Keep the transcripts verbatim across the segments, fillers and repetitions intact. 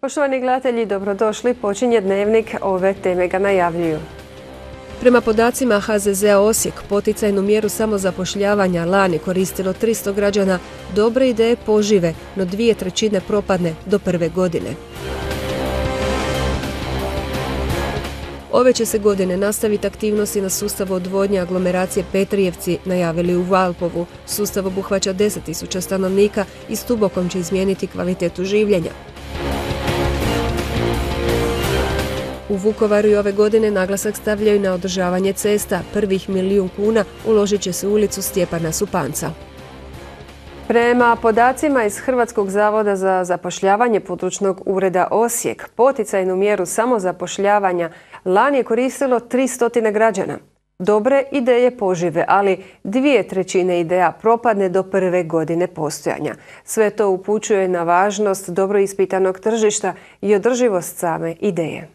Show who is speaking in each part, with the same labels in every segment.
Speaker 1: Poštovani gledatelji, dobrodošli. Počinje Dnevnik, ove teme ga najavljuju.
Speaker 2: Prema podacima H Z Z-a Osijek, poticajnu mjeru samozapošljavanja lani koristilo tristo građana, dobre ideje požive, no dvije trećine propadne do prve godine. Ove će se godine nastaviti aktivnosti na sustavu odvodnje aglomeracije Petrijevci, najavili u Valpovu. Sustav obuhvaća deset tisuća stanovnika i s Tubokom će izmijeniti kvalitetu življenja. U Vukovaru i ove godine naglasak stavljaju na održavanje cesta. Prvih milijun kuna uložit će se u ulicu Stjepana Supanca.
Speaker 1: Prema podacima iz Hrvatskog zavoda za zapošljavanje područnog ureda Osijek, poticajnu mjeru samozapošljavanja lani je koristilo tristo građana. Dobre ideje požive, ali dvije trećine ideja propadne do prve godine postojanja. Sve to upućuje na važnost dobro ispitanog tržišta i održivost same ideje.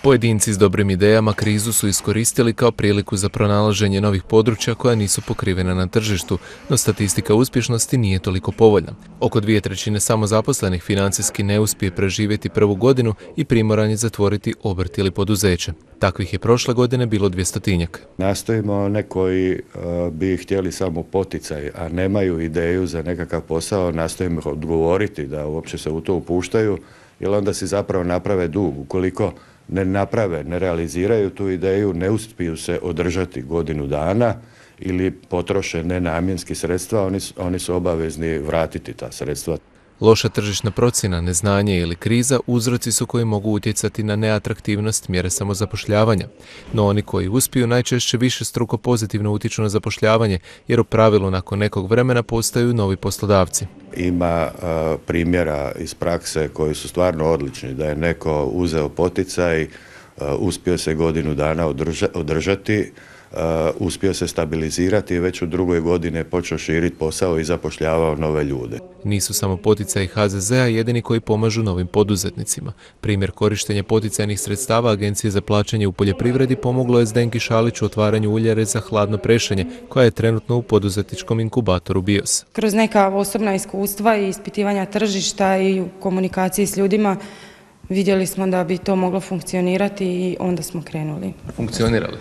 Speaker 3: Pojedinci s dobrim idejama krizu su iskoristili kao priliku za pronalaženje novih područja koja nisu pokrivena na tržištu, no statistika uspješnosti nije toliko povoljna. Oko dvije trećine samozaposlenih financijski ne uspije preživjeti prvu godinu i primoran je zatvoriti obrt ili poduzeće. Takvih je prošle godine bilo dvjestotinjak.
Speaker 4: Nastojimo one koji uh, bi htjeli samo poticaj, a nemaju ideju za nekakav posao, nastojimo odgovoriti da uopće se u to upuštaju, jer onda si zapravo naprave dug. Ukoliko ne naprave, ne realiziraju tu ideju, ne uspiju se održati godinu dana ili potroše nenamjenski sredstva, oni, oni su obavezni vratiti ta sredstva.
Speaker 3: Loša tržišna procjena, neznanje ili kriza uzroci su koji mogu utjecati na neatraktivnost mjere samozapošljavanja. No oni koji uspiju najčešće više struko pozitivno utječu na zapošljavanje, jer u pravilu nakon nekog vremena postaju novi poslodavci.
Speaker 4: Ima uh, primjera iz prakse koji su stvarno odlični, da je neko uzeo poticaj, uh, uspio se godinu dana održa, održati, Uh, uspio se stabilizirati i već u drugoj godini je počeo širiti posao i zapošljavao nove ljude.
Speaker 3: Nisu samo poticaji H Z Z-a jedini koji pomažu novim poduzetnicima. Primjer korištenja poticajnih sredstava Agencije za plaćanje u poljoprivredi pomoglo je Zdenki Šaliću u otvaranju uljare za hladno prešenje, koja je trenutno u poduzetničkom inkubatoru BIOS.
Speaker 5: Kroz neka osobna iskustva i ispitivanja tržišta i u komunikaciji s ljudima vidjeli smo da bi to moglo funkcionirati i onda smo krenuli.
Speaker 3: Funkcionirali?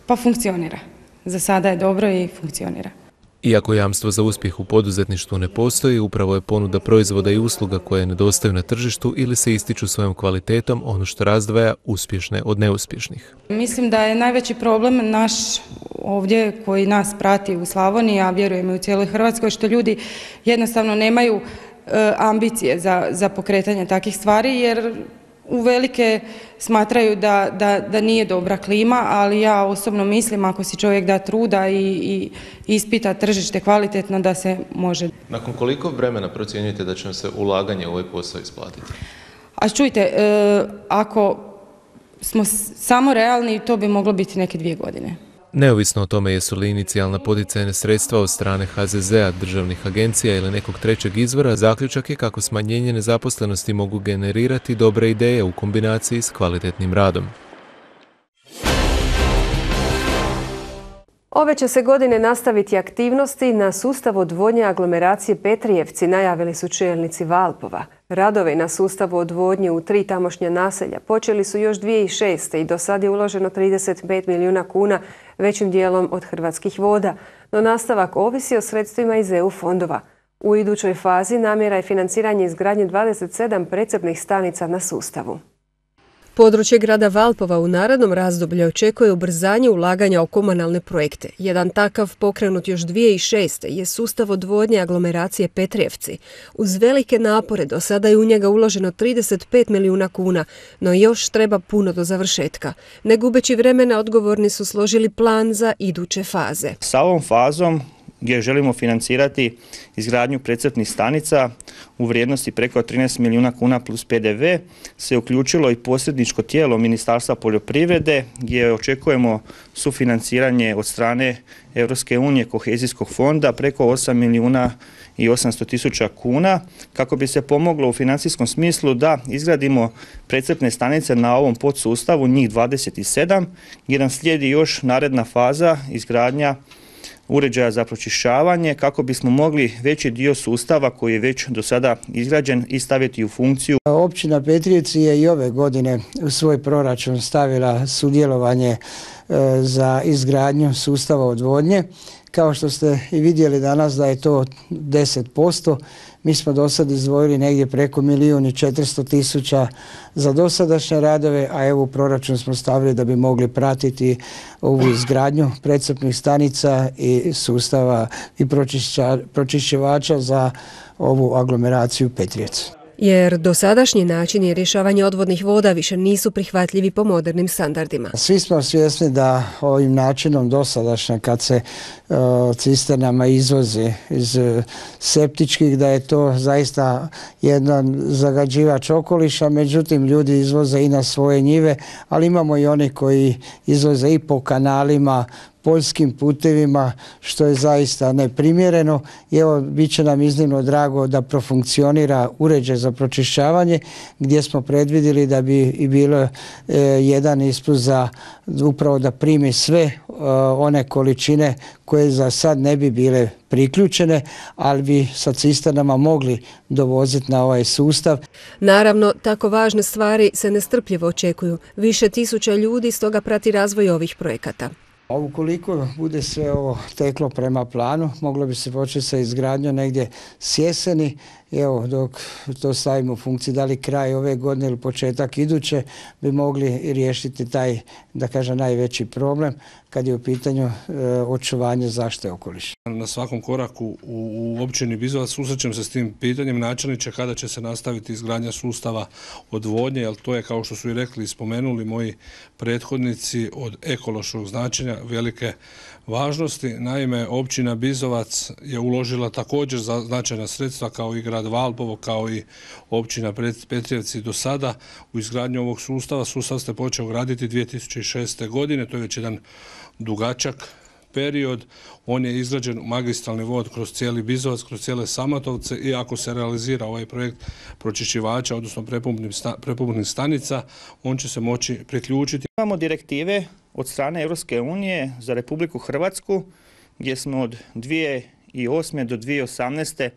Speaker 5: Pa funkcionira. Za sada je dobro i funkcionira.
Speaker 3: Iako jamstvo za uspjeh u poduzetništvu ne postoji, upravo je ponuda proizvoda i usluga koje nedostaju na tržištu ili se ističu svojom kvalitetom ono što razdvaja uspješne od neuspješnih.
Speaker 5: Mislim da je najveći problem naš ovdje koji nas prati u Slavoniji, a vjerujemo i u cijeloj Hrvatskoj, što ljudi jednostavno nemaju e, ambicije za, za pokretanje takih stvari, jer uvelike smatraju da, da, da nije dobra klima, ali ja osobno mislim ako si čovjek da truda i, i ispita tržište kvalitetno da se može.
Speaker 3: Nakon koliko vremena procjenjujete da će vam se ulaganje u ovaj posao isplatiti?
Speaker 5: A čujte, e, ako smo samo realni, to bi moglo biti neke dvije godine.
Speaker 3: Neovisno o tome jesu li inicijalna poticajna sredstva od strane H Z Z-a, državnih agencija ili nekog trećeg izvora, zaključak je kako smanjenje nezaposlenosti mogu generirati dobre ideje u kombinaciji s kvalitetnim radom.
Speaker 1: Ove će se godine nastaviti aktivnosti na sustavu odvodnje aglomeracije Petrijevci, najavili su čelnici Valpova. Radovi na sustavu odvodnje u tri tamošnja naselja počeli su još dvije tisuće šeste. i do sad je uloženo trideset pet milijuna kuna, većim dijelom od Hrvatskih voda, no nastavak ovisi o sredstvima iz E U fondova. U idućoj fazi namjera je financiranje izgradnje dvadeset sedam precrpnih stanica na sustavu.
Speaker 2: Područje grada Valpova u narednom razdoblju očekuje ubrzanje ulaganja u komunalne projekte. Jedan takav pokrenut još dvije tisuće šeste. je sustav odvodnje aglomeracije Petrijevci. Uz velike napore do sada je u njega uloženo trideset pet milijuna kuna, no još treba puno do završetka. Ne gubeći vremena, odgovorni su složili plan za iduće faze.
Speaker 6: Sa ovom fazom gdje želimo financirati izgradnju precrpnih stanica u vrijednosti preko trinaest milijuna kuna plus P D V, se uključilo i posredničko tijelo Ministarstva poljoprivrede gdje očekujemo sufinanciranje od strane Europske unije kohezijskog fonda preko osam milijuna i osamsto tisuća kuna kako bi se pomoglo u financijskom smislu da izgradimo precrpne stanice na ovom podsustavu, njih dvadeset sedam, gdje nam slijedi još naredna faza izgradnja uređaja za pročišćavanje kako bismo mogli veći dio sustava koji je već do sada izgrađen i staviti u funkciju.
Speaker 7: Općina Petrijevci je i ove godine u svoj proračun stavila sudjelovanje za izgradnju sustava odvodnje. Kao što ste i vidjeli danas da je to deset posto, mi smo do sad izdvojili negdje preko milijun i četiristo tisuća za dosadašnje radove, a evo u proračun smo stavili da bi mogli pratiti ovu izgradnju precrpnih stanica i sustava i pročišćivača za ovu aglomeraciju Petrijevci.
Speaker 2: Jer dosadašnji načini rješavanja odvodnih voda više nisu prihvatljivi po modernim standardima.
Speaker 7: Svi smo svjesni da ovim načinom dosadašnja kad se uh, cisternama izvozi iz uh, septičkih, da je to zaista jedan zagađivač okoliša, međutim ljudi izvoze i na svoje njive, ali imamo i oni koji izvoze i po kanalima, poljskim putevima, što je zaista neprimjereno. I evo, bit će nam iznimno drago da profunkcionira uređaj za pročišćavanje, gdje smo predvidjeli da bi i bilo e, jedan ispust za upravo da primi sve e, one količine koje za sad ne bi bile priključene, ali bi sa cisternama mogli dovoziti na ovaj sustav.
Speaker 2: Naravno, tako važne stvari se nestrpljivo očekuju. Više tisuća ljudi stoga prati razvoj ovih projekata.
Speaker 7: A ukoliko bude sve ovo teklo prema planu, moglo bi se početi sa izgradnjom negdje s jeseni. Evo, dok to stavimo u funkciju, da li kraj ove godine ili početak iduće, bi mogli riješiti taj, da kažem, najveći problem kad je u pitanju e, očuvanje zaštite okoliša.
Speaker 8: Na svakom koraku u, u općini Bizovac susrećem se s tim pitanjem načelniče kada će se nastaviti izgradnja sustava odvodnje, jer to je, kao što su i rekli i spomenuli moji prethodnici, od ekološkog značenja velike važnosti. Naime, općina Bizovac je uložila također za značajna sredstva kao i grad Valpovo, kao i općina Petrijevci do sada u izgradnju ovog sustava. Sustav ste počeo graditi dvije tisuće šeste. godine, to je već jedan dugačak period. On je izgrađen magistralni vod kroz cijeli Bizovac, kroz cijele Samatovce i ako se realizira ovaj projekt pročišćivača, odnosno prepumpnih stanica, on će se moći priključiti.
Speaker 6: Imamo direktive od strane Europske unije za Republiku Hrvatsku gdje smo od dvije tisuće osme. do dvije tisuće osamnaeste.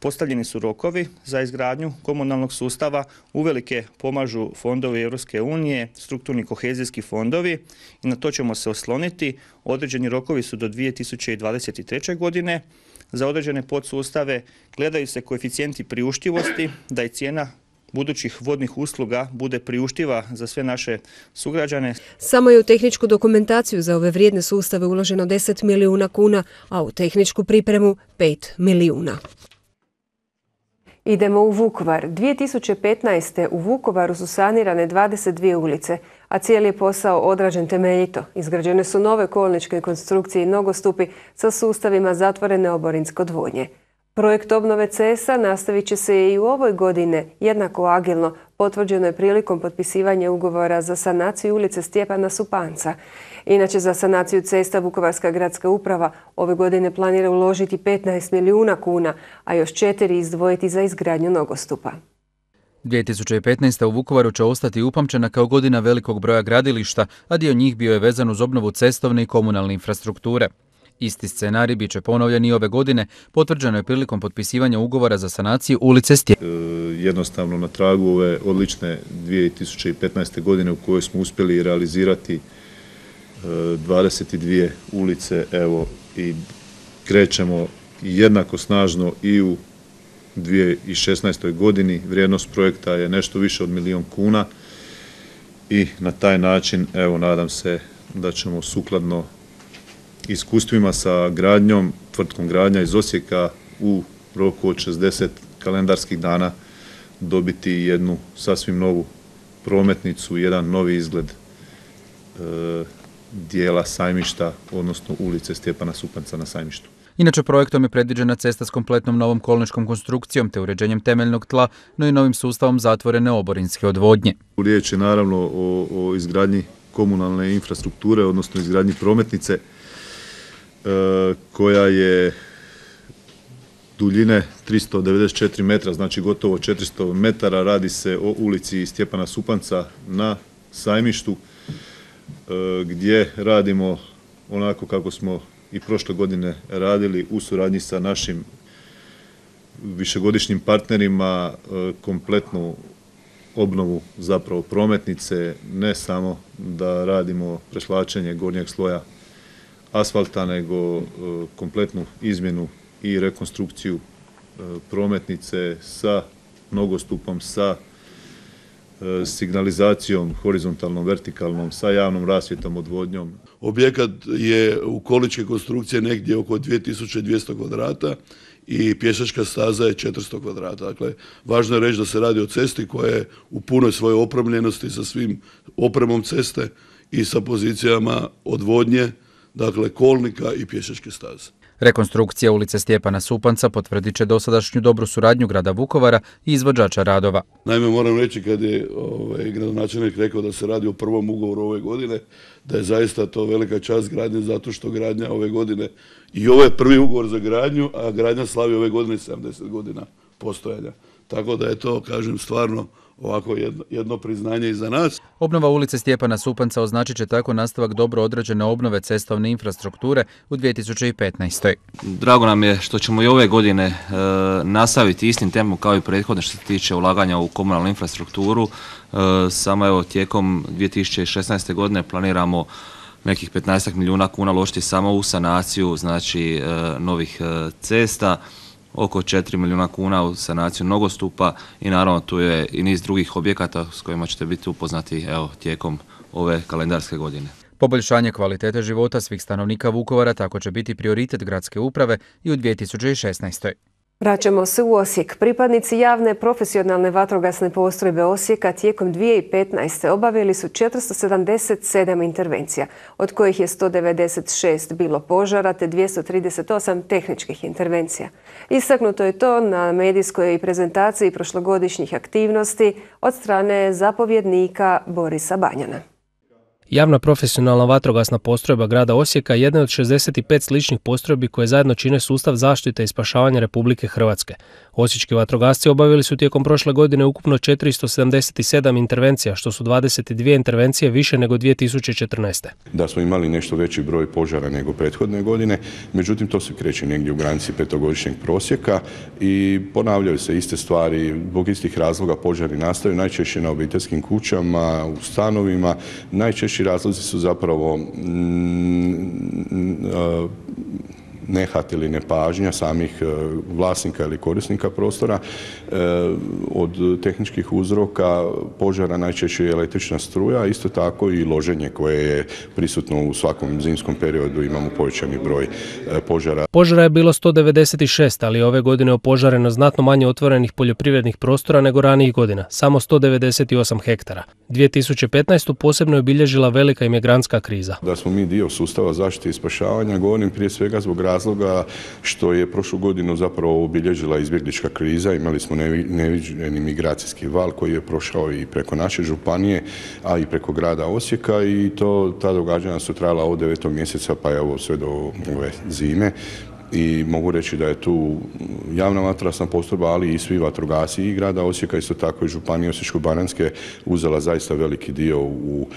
Speaker 6: postavljeni su rokovi za izgradnju komunalnog sustava, uvelike pomažu fondovi Europske unije, strukturni kohezijski fondovi i na to ćemo se osloniti. Određeni rokovi su do dvije tisuće dvadeset treće. godine. Za određene podsustave gledaju se koeficijenti priuštivosti, da je cijena budućih vodnih usluga bude priuštiva za sve naše sugrađane.
Speaker 2: Samo je u tehničku dokumentaciju za ove vrijedne sustave uloženo deset milijuna kuna, a u tehničku pripremu pet milijuna.
Speaker 1: Idemo u Vukovar. dvije tisuće petnaeste. u Vukovaru su sanirane dvadeset dvije ulice, a cijeli je posao odrađen temeljito. Izgrađene su nove kolničke konstrukcije i nogostupi sa sustavima zatvorene oborinske odvodnje. Projekt obnove cesta nastavit će se i u ovoj godine jednako agilno. Potvrđeno je prilikom potpisivanja ugovora za sanaciju ulice Stjepana Supanca. Inače, za sanaciju cesta Vukovarska gradska uprava ove godine planira uložiti petnaest milijuna kuna, a još četiri izdvojiti za izgradnju nogostupa.
Speaker 9: dvije tisuće petnaeste. u Vukovaru će ostati upamćena kao godina velikog broja gradilišta, a dio njih bio je vezan uz obnovu cestovne i komunalne infrastrukture. Isti scenarij bit će ponovljen i ove godine, potvrđeno je prilikom potpisivanja ugovora za sanaciju ulice Stjepana.
Speaker 10: E, jednostavno na tragu ove odlične dvije tisuće petnaeste. godine u kojoj smo uspjeli realizirati e, dvadeset dvije ulice, evo i krećemo jednako snažno i u dvije tisuće šesnaestoj. godini. Vrijednost projekta je nešto više od milijun kuna i na taj način, evo, nadam se da ćemo sukladno iskustvima sa gradnjom, tvrtkom Gradnja iz Osijeka u roku od šezdeset kalendarskih dana dobiti jednu sasvim novu prometnicu, jedan novi izgled e, dijela Sajmišta, odnosno ulice Stjepana Supanca na Sajmištu.
Speaker 9: Inače, projektom je predviđena cesta s kompletnom novom kolničkom konstrukcijom te uređenjem temeljnog tla, no i novim sustavom zatvorene oborinske odvodnje.
Speaker 10: Riječ je naravno o, o izgradnji komunalne infrastrukture, odnosno izgradnji prometnice koja je duljine tristo devedeset četiri metra, znači gotovo četiristo metara. Radi se o ulici Stjepana Supanca na Sajmištu, gdje radimo onako kako smo i prošle godine radili u suradnji sa našim višegodišnjim partnerima kompletnu obnovu zapravo prometnice, ne samo da radimo presvlačenje gornjeg sloja asfalta, nego kompletnu izmjenu i rekonstrukciju prometnice sa nogostupom, sa signalizacijom horizontalnom, vertikalnom, sa javnom rasvjetom, odvodnjom.
Speaker 11: Objekat je u količke konstrukcije negdje oko dvije tisuće dvjesto kvadrata i pješačka staza je četiristo kvadrata. Dakle, važno je reći da se radi o cesti koja je u punoj svojoj opremljenosti sa svim opremom ceste i sa pozicijama odvodnje, dakle kolnika i pješačke staze.
Speaker 9: Rekonstrukcija ulice Stjepana Supanca potvrdit će dosadašnju dobru suradnju grada Vukovara i izvođača radova.
Speaker 11: Naime, moram reći kad je ovaj, gradonačelnik rekao da se radi o prvom ugovoru ove godine, da je zaista to velika čast gradnje zato što gradnja ove godine i ovo je prvi ugovor za gradnju, a gradnja slavi ove godine sedamdeset godina postojanja. Tako da je to, kažem, stvarno ovako jedno, jedno priznanje i za nas.
Speaker 9: Obnova ulice Stjepana Supanca označit će tako nastavak dobro određene obnove cestovne infrastrukture u dvije tisuće petnaestoj.
Speaker 12: Drago nam je što ćemo i ove godine e, nastaviti istim tempom kao i prethodne što se tiče ulaganja u komunalnu infrastrukturu. E, samo evo tijekom dvije tisuće šesnaeste. godine planiramo nekih petnaest milijuna kuna uložiti samo u sanaciju, znači e, novih e, cesta, oko četiri milijuna kuna u sanaciju nogostupa i naravno tu je i niz drugih objekata s kojima ćete biti upoznati evo, tijekom ove kalendarske godine.
Speaker 9: Poboljšanje kvalitete života svih stanovnika Vukovara tako će biti prioritet gradske uprave i u dvije tisuće šesnaestoj.
Speaker 1: Vraćamo se u Osijek. Pripadnici javne profesionalne vatrogasne postrojbe Osijeka tijekom dvije tisuće petnaeste. obavili su četiristo sedamdeset sedam intervencija, od kojih je sto devedeset šest bilo požara te dvjesto trideset osam tehničkih intervencija. Istaknuto je to na medijskoj prezentaciji prošlogodišnjih aktivnosti od strane zapovjednika Borisa Banjana.
Speaker 13: Javna profesionalna vatrogasna postrojba grada Osijeka je jedna od šezdeset pet sličnih postrojbi koje zajedno čine sustav zaštite i spašavanja Republike Hrvatske. Osječki vatrogasci obavili su tijekom prošle godine ukupno četiristo sedamdeset sedam intervencija, što su dvadeset dvije intervencije više nego dvije tisuće četrnaeste.
Speaker 14: Da smo imali nešto veći broj požara nego prethodne godine, međutim to se kreće negdje u granici petogodišnjeg prosjeka i ponavljaju se iste stvari, zbog istih razloga požari nastaju najčešće na obiteljskim kućama, u stanovima, najčešće razlozi su zapravo nehat ili nepažnja samih vlasnika ili korisnika prostora. Od tehničkih uzroka požara najčešće je električna struja, isto tako i loženje koje je prisutno u svakom zimskom periodu, imamo povećani broj požara.
Speaker 13: Požara je bilo sto devedeset šest, ali ove godine je opožareno znatno manje otvorenih poljoprivrednih prostora nego ranijih godina, samo sto devedeset osam hektara. dvije tisuće petnaestu. posebno je obilježila velika imigrantska kriza.
Speaker 14: Da smo mi dio sustava zaštite i spašavanja, govorim prije svega zbog razloga što je prošlu godinu zapravo obilježila izbjeglička kriza. Imali smo neviđeni migracijski val koji je prošao i preko naše županije, a i preko grada Osijeka i to, ta događanja su trajala od devetog mjeseca pa evo sve do ove zime. I mogu reći da je tu javna vatrogasna postrojba, ali i svi vatrogasci i grada Osijeka, isto tako i županije Osječko-baranjske uzela zaista veliki dio u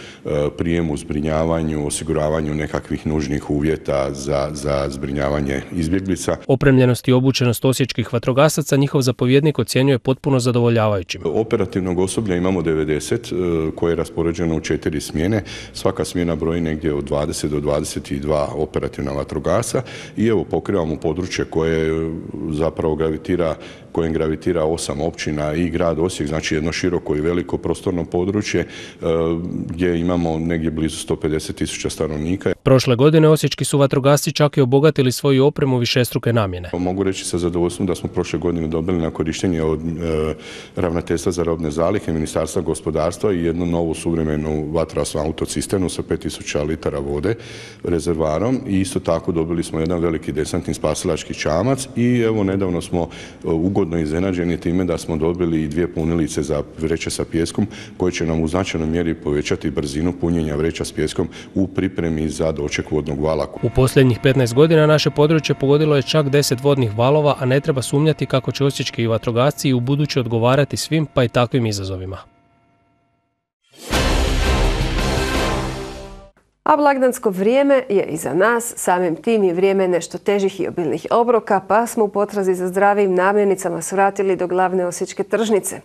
Speaker 14: prijemu, zbrinjavanju, osiguravanju nekakvih nužnih uvjeta za, za zbrinjavanje izbjeglica.
Speaker 13: Opremljenost i obučenost osječkih vatrogasaca njihov zapovjednik ocjenjuje potpuno zadovoljavajućim.
Speaker 14: Operativnog osoblja imamo devedeset koje je raspoređeno u četiri smjene. Svaka smjena broji negdje od dvadeset do dvadeset dva operativna vatrogasca i evo pokrivamo u područje koje zapravo gravitira, kojem gravitira osam općina i grad Osijek, znači jedno široko i veliko prostorno područje gdje imamo negdje blizu sto pedeset tisuća stanovnika.
Speaker 13: Prošle godine osječki su vatrogasci čak i obogatili svoju opremu višestruke namjene.
Speaker 14: Mogu reći sa zadovoljstvom da smo prošle godine dobili na korištenje od e, Ravnateljstva za robne zalihe, Ministarstva gospodarstva i jednu novu suvremenu vatrogasnu autocisternu sa pet tisuća litara vode rezervarom i isto tako dobili smo jedan veliki desantni spasilački čamac i evo nedavno smo ugodno iznenađeni time da smo dobili i dvije punilice za vreće sa pijeskom koje će nam u značajnoj mjeri povećati brzinu punjenja vreća s pijeskom u pripremi za doček vodnog vala.
Speaker 13: U posljednjih petnaest godina naše područje pogodilo je čak deset vodnih valova, a ne treba sumnjati kako će osječki vatrogasci i u buduće odgovarati svim pa i takvim izazovima.
Speaker 1: A blagdansko vrijeme je iza nas, samim tim je vrijeme nešto težih i obilnih obroka, pa smo u potrazi za zdravim namirnicama svratili do glavne osječke tržnice.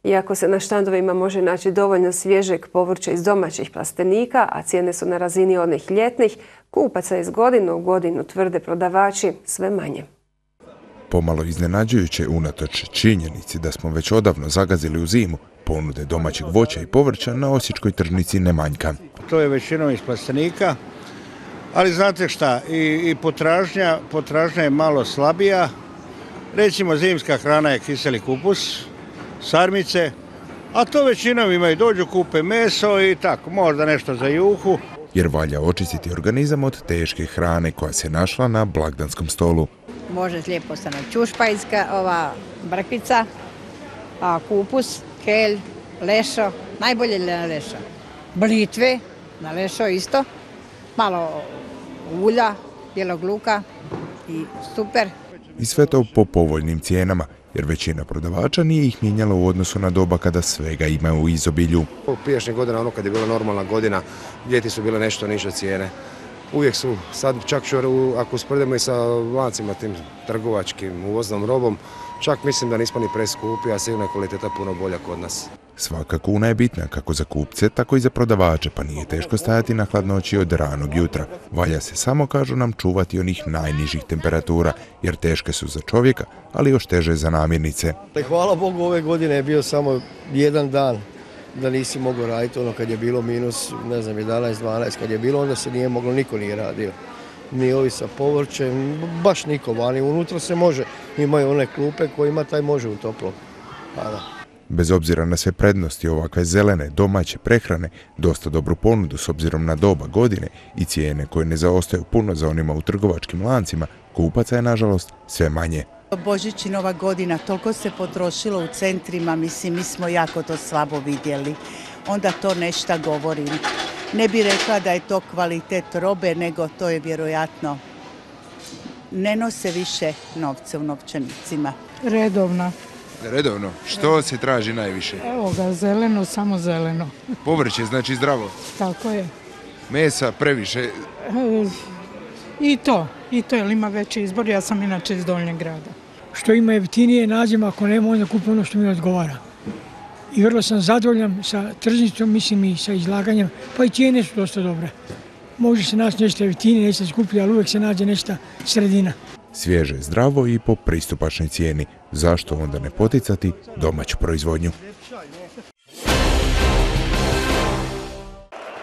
Speaker 1: Iako se na štandovima može naći dovoljno svježeg povrća iz domaćih plastenika, a cijene su na razini onih ljetnih, kupaca iz godine u godinu, tvrde prodavači, sve manje.
Speaker 15: Pomalo iznenađujuće unatoč činjenici da smo već odavno zagazili u zimu, ponude domaćeg voća i povrća na osječkoj tržnici ne manjka.
Speaker 16: To je većinom iz plastenika, ali znate šta, i, i potražnja, potražnja je malo slabija. Recimo zimska hrana je kiseli kupus, sarmice, a to većinom imaju, dođu kupe meso i tako, možda nešto za juhu.
Speaker 15: Jer valja očistiti organizam od teške hrane koja se našla na blagdanskom stolu.
Speaker 17: Može lijepo stane čušpajska, ova brkvica, a kupus, kelj, lešo, najbolje na lešo. Blitve, na lešo isto, malo ulja, bijelog luka i super.
Speaker 15: I sve to po povoljnim cijenama, jer većina prodavača nije ih mijenjala u odnosu na doba kada svega ima u izobilju.
Speaker 18: Prijašnjih godina, ono kad je bila normalna godina, ljeti su bile nešto niže cijene. Uvijek su, sad čak ako usporedimo i sa lancima tim trgovačkim uvoznom robom, čak mislim da nismo ni preskupi, a sigurno je kvaliteta puno bolja kod nas.
Speaker 15: Svaka kuna je bitna kako za kupce, tako i za prodavače, pa nije teško stajati na hladnoći od ranog jutra. Valja se samo, kažu nam, čuvati onih najnižih temperatura, jer teške su za čovjeka, ali još teže za namirnice.
Speaker 19: Hvala Bogu, ove godine je bio samo jedan dan da nisi mogao raditi, ono kad je bilo minus, ne znam, jedanaest dvanaest, kad je bilo, onda se nije moglo, niko nije radio. Ni ovi sa povrćem, baš niko vani, unutra se može, imaju one klupe kojima taj može u toplo. Hvala.
Speaker 15: Bez obzira na sve prednosti ovakve zelene, domaće prehrane, dosta dobru ponudu s obzirom na doba godine i cijene koje ne zaostaju puno za onima u trgovačkim lancima, kupaca je nažalost sve manje.
Speaker 20: Božić i Nova godina, toliko se potrošilo u centrima, mislim, mi smo jako to slabo vidjeli. Onda to nešto govorim. Ne bi rekla da je to kvalitet robe, nego to je vjerojatno. Ne nose više novce u novčanicima.
Speaker 21: Redovno.
Speaker 15: Redovno? Što se traži najviše?
Speaker 21: Evo ga, zeleno, samo zeleno.
Speaker 15: Povrće, znači zdravo?
Speaker 21: Tako je.
Speaker 15: Mesa previše?
Speaker 21: E, I to, i to, jer ima veći izbor, ja sam inače iz Donjeg grada.
Speaker 22: Što ima jeftinije nađemo, ako nema, onda kupimo ono što mi odgovara. I vrlo sam zadovoljan sa tržnicom, mislim i sa izlaganjem, pa i cijene su dosta dobre. Može se naći nešto jeftinije, nešto skuplje, ali uvijek se nađe nešto sredina.
Speaker 15: Svježe, zdravo i po pristupačnoj cijeni. Zašto onda ne poticati domaću proizvodnju?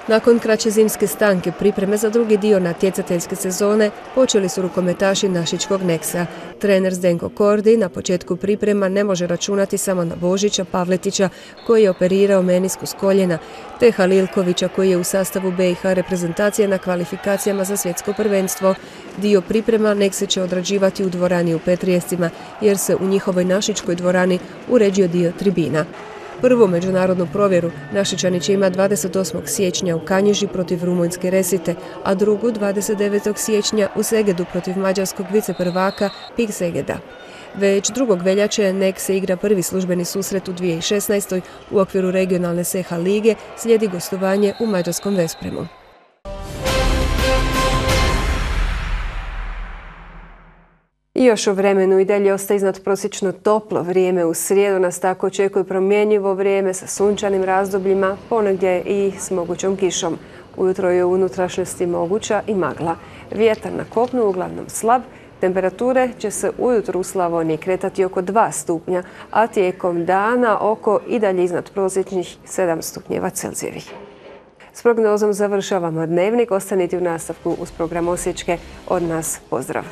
Speaker 2: Nakon kraće zimske stanke, pripreme za drugi dio natjecateljske sezone počeli su rukometaši Našičkog Neksa. Trener Zdenko Kordi na početku priprema ne može računati samo na Božića Pavletića koji je operirao meniskus koljena, te Halilkovića koji je u sastavu B i H reprezentacije na kvalifikacijama za svjetsko prvenstvo. Dio priprema Nekse će odrađivati u dvorani u Petrijevcima jer se u njihovoj Našičkoj dvorani uređio dio tribina. Prvu međunarodnu provjeru Našičani će imati dvadeset osmog siječnja u Kanjiži protiv rumunjske Resite, a drugu dvadeset devetog siječnja u Segedu protiv mađarskog viceprvaka Pik Segeda. Već drugog veljače Nek se igra prvi službeni susret u dvije tisuće šesnaestoj u okviru regionalne S H lige, slijedi gostovanje u mađarskom Vespremu.
Speaker 1: I još o vremenu i dalje ostaje iznadprosječno toplo vrijeme. U srijedu nas tako očekuje promjenjivo vrijeme sa sunčanim razdobljima, ponegdje i s mogućom kišom. Ujutro je u unutrašnjosti moguća i magla. Vjetar na kopnu uglavnom slab. Temperature će se ujutro u Slavoniji kretati oko dva stupnja, a tijekom dana oko i dalje iznadprosječnih sedam stupnjeva Celzijevih. S prognozom završavamo dnevnik. Ostanite u nastavku uz program Osječke. Od nas pozdrav!